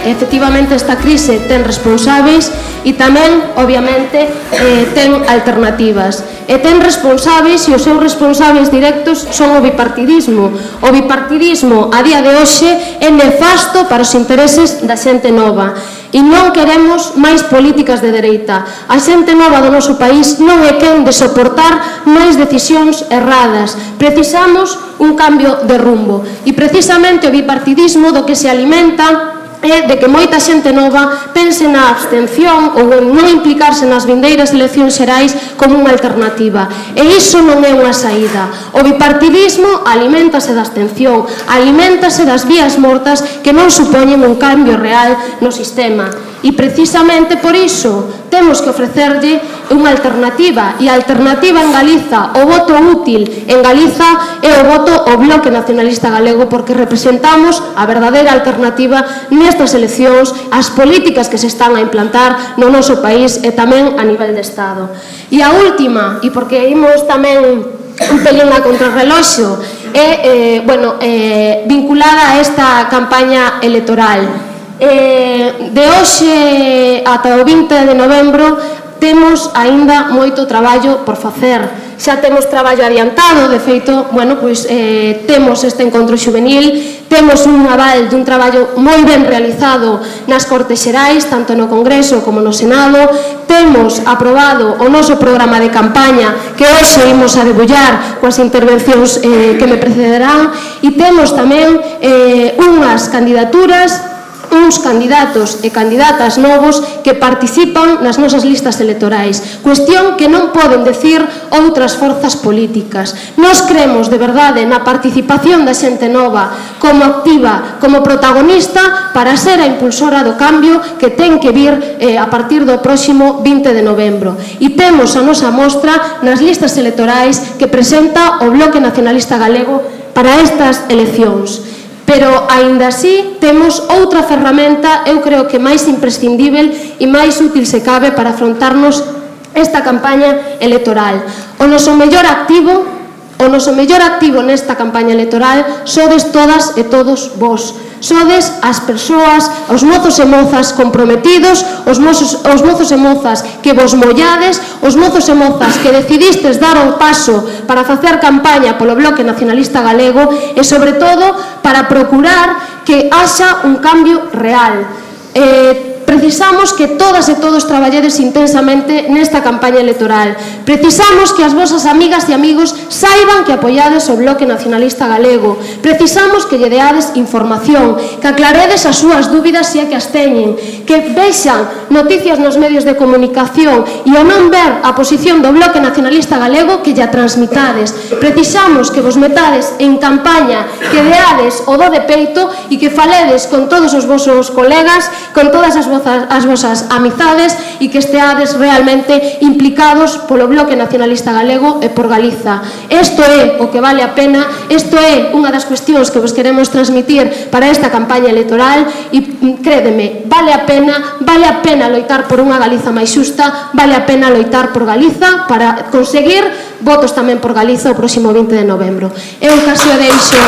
efectivamente esta crise ten responsáveis e tamén, obviamente, ten alternativas. E ten responsáveis e os seus responsáveis directos son o bipartidismo. O bipartidismo a día de hoxe é nefasto para os intereses da xente nova. E non queremos máis políticas de dereita. A xente nova do noso país non é quen de soportar máis decisións erradas. Precisamos un cambio de rumbo. E precisamente o bipartidismo do que se alimenta é de que moita xente nova pense na abstención ou en non implicarse nas vindeiras eleccións xerais como unha alternativa. E iso non é unha saída. O bipartidismo aliméntase da abstención, aliméntase das vías mortas que non supoñen un cambio real no sistema. E precisamente por iso temos que ofrecerlle unha alternativa, e a alternativa en Galiza, o voto útil en Galiza é o voto ao Bloque Nacionalista Galego, porque representamos a verdadeira alternativa nestas eleccións, as políticas que se están a implantar no noso país e tamén a nivel de Estado. E a última, e porque imos tamén un pelín a contrarreloxo, é vinculada a esta campaña electoral. De hoxe ata o 20 de novembro temos aínda moito traballo por facer. Xa temos traballo adiantado, de feito, temos este encontro xuvenil, temos un aval dun traballo moi ben realizado nas Cortes Xerais, tanto no Congreso como no Senado, temos aprobado o noso programa de campaña que hoxe imos a debullar coas intervencións que me precederán, e temos tamén unhas candidaturas, uns candidatos e candidatas novos que participan nas nosas listas electorais, cuestión que non poden decir outras forzas políticas. Nós cremos de verdade na participación da xente nova como activa, como protagonista para ser a impulsora do cambio que ten que vir a partir do próximo 20 de novembro. E temos a nosa mostra nas listas electorais que presenta o Bloque Nacionalista Galego para estas eleccións. Pero, aínda así, temos outra ferramenta, eu creo que máis imprescindível e máis útil se cabe para afrontarnos esta campaña electoral. O noso mellor activo nesta campaña electoral sodes todas e todos vós. Sodes as persoas, os mozos e mozas comprometidos, os mozos e mozas que vos mollades, os mozos e mozas que decidistes dar o paso para facer campaña polo Bloque Nacionalista Galego e, sobre todo, para procurar que haxa un cambio real. Precisamos que todas e todos traballedes intensamente nesta campaña electoral. Precisamos que as vosas amigas e amigos saiban que apoiades o Bloque Nacionalista Galego. Precisamos que lle deades información, que aclaredes as súas dúbidas se é que as teñen, que vexan noticias nos medios de comunicación e ao non ver a posición do Bloque Nacionalista Galego que lle transmitades. Precisamos que vos metades en campaña, que deades o do de peito e que faledes con todos os vosos colegas, con todas as vosas amizades e que esteades realmente implicados polo Bloque Nacionalista Galego e por Galiza. Isto é o que vale a pena, isto é unha das cuestións que vos queremos transmitir para esta campaña electoral e, crédeme, vale a pena loitar por unha Galiza máis xusta, vale a pena loitar por Galiza para conseguir votos tamén por Galiza o próximo 20 de novembro. Eu case o deixo